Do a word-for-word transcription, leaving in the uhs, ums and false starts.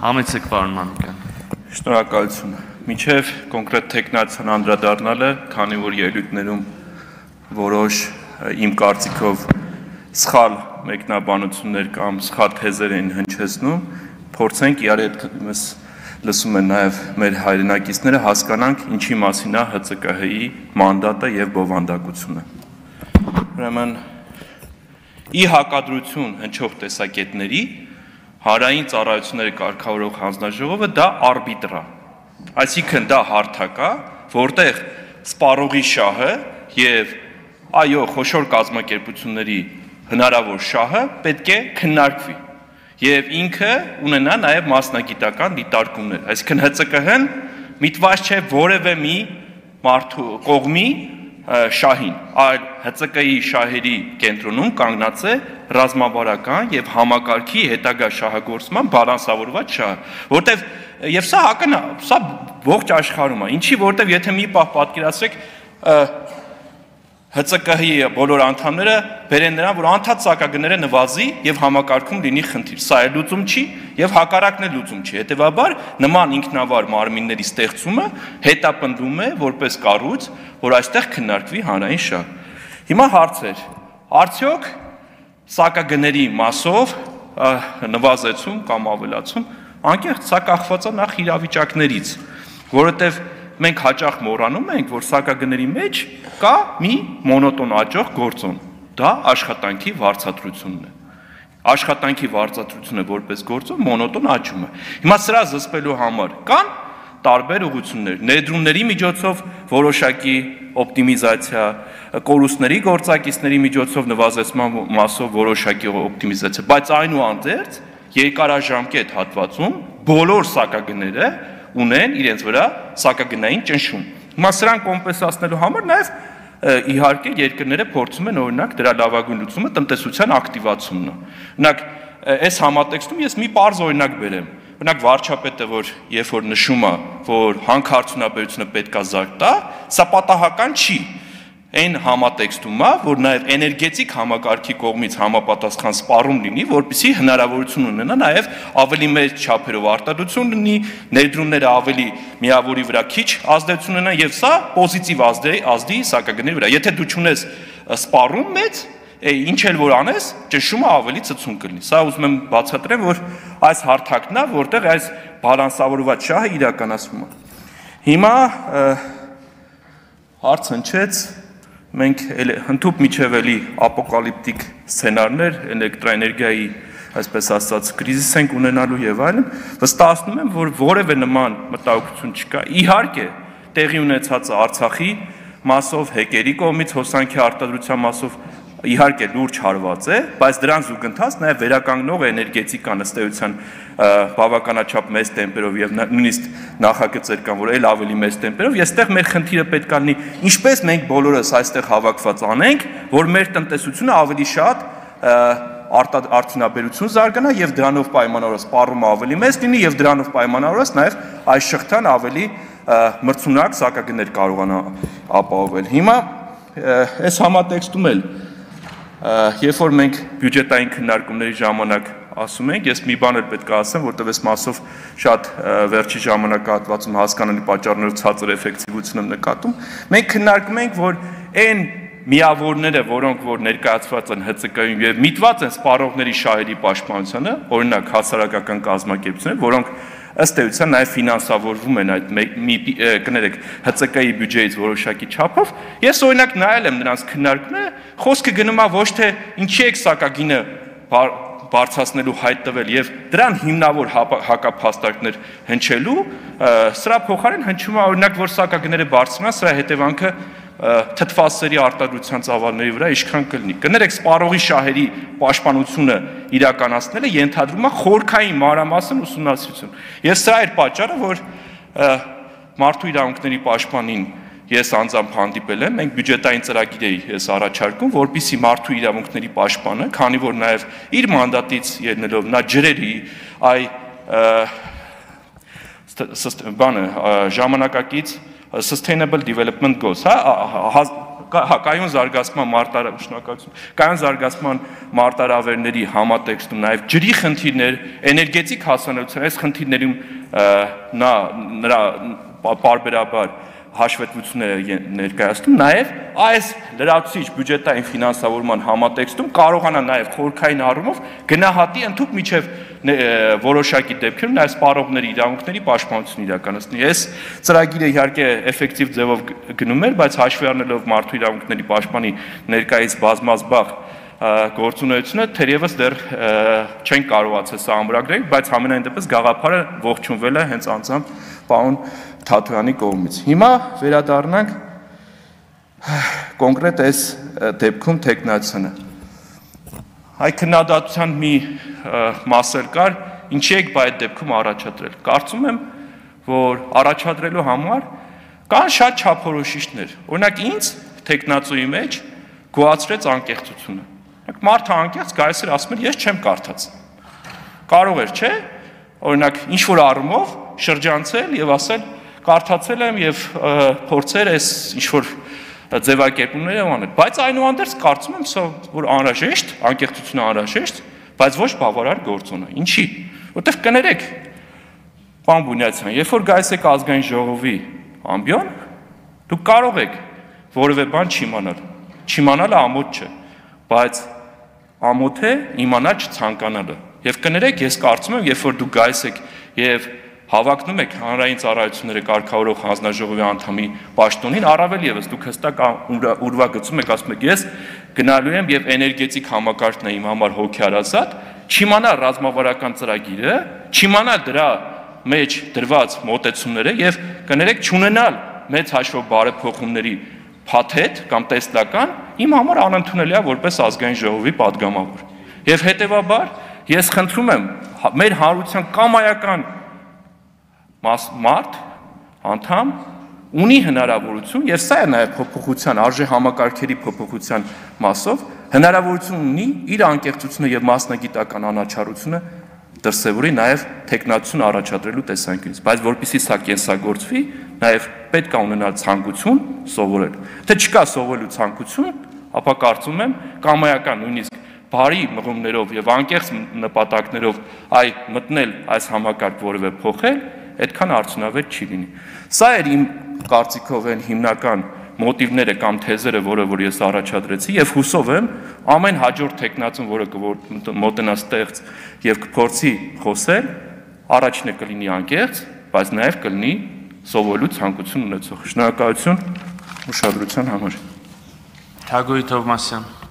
Համեցեք պարոն Մանուկյան։ Շնորհակալություն։ Մինչև կոնկրետ տեխնացիան անդրադառնալը, քանի որ ելույթներում որոշ իմ կարծիքով սխալ մեկնաբանություններ կամ սխալ թեզեր են հնչեցնում, փորձենք իրար հետ լսում են նաև մեր հայրենակիցները հասկանանք ինչի մասին է Հ Ց Կ Հ-ի մանդատը եւ բովանդակությունը։ Ուրեմն ի հակադրություն հնչող տեսակետների Հարային ծառայությունների կարգավորող հանձնաժողովը դա արբիտր է, այսինքն դա հարթակ է, որտեղ սպառողի շահը եւ այո խոշոր կազմակերպությունների հնարավոր շահը պետք է քննարկվի եւ ինքը ունենա նաեւ մասնագիտական դիտարկումներ, այսինքն Հ Ց Կ Հ-ն միտված չէ որևէ մի մարդու կողմի շահին, այլ Հ Ց Կ-ի շահերի կենտրոնում կանգնած է ռազմավարական եւ համակարգի հետագա շահագործման բալանսավորված շահը, որտեվ եւ սա հակն սա ողջ աշխարհում է, ինչի որտեվ եթե մի պահ պատկերացրեք Հ Ց Կ Հ-ի բոլոր անդամները բերեն նրան, որ անդադ սակագները նվազի եւ համակարգում լինի խնդիր, սա էլ լուծում չի եւ հակառակն էլ լուծում չի, հետեւաբար նման ինքնավար մարմինների ստեղծումը հետապնդում է որպես կառույց, որ այստեղ քննարկվի հանրային շահ։ Հիմա հարցեր, արդյոք սակագների մասով նվազեցում կամ ավելացում, անկեղծ սա կախված է նախ իրավիճակներից, որովհետև մենք հաճախ մոռանում ենք, որ սակագների մեջ կա մի մոնոտոն աճող գործոն, դա աշխատանքի վարձատրությունն է։ Աշխատանքի վարձատրությունը որպես գործոն մոնոտոն աճում է։ Հիմա սրա զսպելու համար կան տարբեր ուղղություններ, ներդրումների միջոցով որոշակի օպտիմիզացիա, կորուստների գործակիցների միջոցով նվազեցման մասով որոշակի օպտիմիզացիա, բայց այնուհանդերձ երկարաժամկետ հատվածում բոլոր սակագները ունեն իրենց վրա սակագնային ճնշում։ Հիմա սրան կոմպենսացնելու համար նաև իհարկե երկրները փորձում են օրինակ դրա լավագույն լուծումը տնտեսության ակտիվացումն է։ Օրինակ այս համատեքստում ես մի պարզ օրինակ բերեմ։ Օրինակ վարչապետը, որ երբ որ նշում է, որ հանքարդյունաբերությունը պետք է զարգ տա, սա պատահական չի։ Այն համատեքստում է, որ նաև էներգետիկ համակարգի կողմից համապատասխան սպառում լինի, որպեսզի հնարավորություն ունենա նաև ավելի մեծ չափերով արտադրություն լինի, ներդրումները ավելի միավորի վրա քիչ ազդեցություն ունենան եւ սա պոզիտիվ ազդի սակագների վրա։ Եթե դու չունես սպառում մեծ, ինչ էլ որ անես, ճնշումը ավելի ծծուն կլինի։ Սա ուզում եմ բացատրեմ, որ այս հարթակն է, որտեղ այս բալանսավորված շահը իրականացվում է։ Հիմա հարց հնչեց մենք հնդուp միջև էլի ապոկալիպտիկ սցենարներ էլեկտրաէներգիայի, այսպես ասած, կրիզիս ենք ունենալու եւ այլն, վստահեցնում եմ, որ որևէ նման մտահոգություն չկա։ Իհարկե, տեղի ունեցածը Արցախի մասով, հեկերի կողմից հոսանքի արտադրության մասով իհարկե լուրջ հարված է, բայց դրան զուգընթաց նաև վերականգնող էներգետիկան ըստ էության բավականաչափ մեծ տեմպերով եւ նույնիսկ նախագծեր կան, որ այլ ավելի մեծ տեմպերով, այստեղ մեր խնդիրը պետք է լինի, ինչպես մենք բոլորս այստեղ հավաքված անենք, որ մեր տնտեսությունը ավելի շատ արդյունաբերություն զարգանա եւ դրանով պայմանավորված սպառումը ավելի մեծ լինի եւ դրանով պայմանավորված նաև այս շղթան ավելի մրցունակ սակագներ կարողանա ապահովել։ Հիմա այս համատեքստում էլ երբ որ մենք բյուջետային քննարկումների ժամանակ ասում ենք, ես մի բան էլ պետք է ասեմ, որտեղ այս մասով շատ վերջի ժամանակահատվածում հասկանալի պատճառներով ցածր էֆեկտիվություն եմ նկատում, մենք քննարկում ենք, որ այն միավորները, որոնք որ ներկայացված են Հ Ց Կ-ում եւ միտված են սպառողների շահերի պաշտպանությանը, օրինակ հասարակական կազմակերպություններ, որոնք ըստ էության նաև ֆինանսավորվում են այդ մի կներեք Հ Ց Կ-ի բյուջեից որոշակի չափով, ես օրինակ նայել եմ նրանց քննարկումները, խոսքը գնում է ոչ թե ինչի եք սակագինը բարձրացնելու հայտ տվել եւ դրան հիմնավոր հակափաստարկներ հնչելու, սրա փոխարեն հնչում է օրինակ, որ սակագները բարձրանան, սրա հետևանքը թթվասերի արտադրության ծավալների վրա ինչքան կլինի։ Կներեք, սպառողի շահերի պաշտպանությունը իրականացնելը ենթադրում է խորքային մանրամասն ուսումնասիրություն։ Եվ սա էր պատճառը, որ մարդու իրավունքների պաշտպանին ես անձամբ հանդիպել եմ, մենք բյուջետային ծրագիր էի ես առաջարկում, որպեսզի մարդու իրավունքների պաշտպանը, քանի որ նաև իր մանդատից ելնելով նա ջրերի այ բանը ժամանակակից Sustainable Development Goals, հա, կայուն զարգացման մարտարավ, շնորհակալություն, կայուն զարգացման մարտարավերների համատեքստում նաև ջրի խնդիրներ, էներգետիկ հասանելիության այս խնդիրներում նա նրա պարբերաբար հաշվետվությունները ներկայացնում, նաև այս լրացուցիչ բյուջետային ֆինանսավորման համատեքստում կարողանա նաև խորհրդային առումով գնահատի ընդհանուր միջև որոշակի դեպքերում նաև սպառողների իրավունքների պաշտպանություն իրականացնի։ Այս ծրագիրը իհարկե էֆեկտիվ ձևով գնում էր, բայց հաշվի առնելով մարդու իրավունքների պաշտպանի ներկայիս բազմազբաղ գործունեությունը թերևս դեռ չեն կարողացել սա ամրագրել, բայց համենայն դեպս գաղափարը ողջունվել է հենց անձամբ պարոն Թաթոյանի կողմից։ Հիմա վերադառնանք կոնկրետ այս դեպքում տեխնացիանը։ Այ քննադատության մի մասեր կար, ինչի եք այդ դեպքում առաջադրել։ Կարծում եմ, որ առաջադրելու համար կան շատ չափորոշիչներ։ Օրինակ ինձ տեխնացուի մեջ գոհացրեց անկեղծությունը։ Մարդը անկեղծ գալիս էր ասում էր, ես չեմ կարդաց։ Կարող էր, չէ՞, օրինակ ինչ որ առումով շրջանցել եւ ասել կարդացել եմ եւ փորձեր այս ինչ որ ձևակերպումները անել, բայց այնուհանդերձ կարծում եմ, որ անհրաժեշտ, անկեղծությունը անհրաժեշտ, բայց ոչ բավարար գործոն է։ Ինչի՞։ Որտեվ կներեք, պարոն Բունյացյան, երբ որ գայիս եք ազգային ժողովի ամբիոն, դուք կարող եք որևէ բան չիմանալ։ Չիմանալը ամոթ չէ, բայց ամոթ է իմանալ չցանկանալը։ Եվ կներեք, ես կարծում եմ, երբ որ դուք գայիս եք եւ հավակնում եք հանրային ծառայությունները կարգավորող հանձնաժողովի անդամի պաշտոնին, առավել եւս դուք հստակ ուրվագծում եք, ասում եք, ես գնալու եմ եւ էներգետիկ համակարգն է իմ համար հոգեարազատ, չիմանալ ռազմավարական ծրագիրը, չիմանալ դրա մեջ դրված մոտեցումները եւ կներեք չունենալ մեծ հաշվով բարեփոխումների փաթեթ կամ տեսլական իմ համար անընդունելի է որպես ազգային ժողովի падգամավոր։ Եվ հետեւաբար ես խնդրում եմ մեր հանրության կամայական մարդ, անդամ ունի հնարավորություն, եւ սա է նաեւ փոփոխության, արժե համակարգերի փոփոխության մասով, հնարավորություն ունի իր անկեղծությունը եւ մասնագիտական անաչառությունը դրսևորի նաեւ տեխնացիոն առաջադրելու տեսանկյունից, բայց որpիսի սա կենսագործվի, նաեւ պետք է ունենալ ցանկություն սովորել։ Թե չկա սովորելու ցանկություն, ապա կարծում եմ կամայական նույնիսկ բարի մղումներով եւ անկեղծ նպատակներով այ մտնել այս համակարգ որևէ փոխել, այդքան արդյունավետ չի լինի։ Սա էր իմ կարծիքով այն հիմնական մոտիվները կամ թեզերը, որը որ ես առաջադրեցի եւ հուսով եմ ամեն հաջորդ տեխնացուն, որը կմոտնա ստեղծ եւ կփորձի խոսել, առաջինը կլինի անկեղծ, բայց նաեւ կլինի սովորելու ցանկություն ունեցող։ Շնորհակալություն ուշադրության համար։ Թագուհի Թովմասյան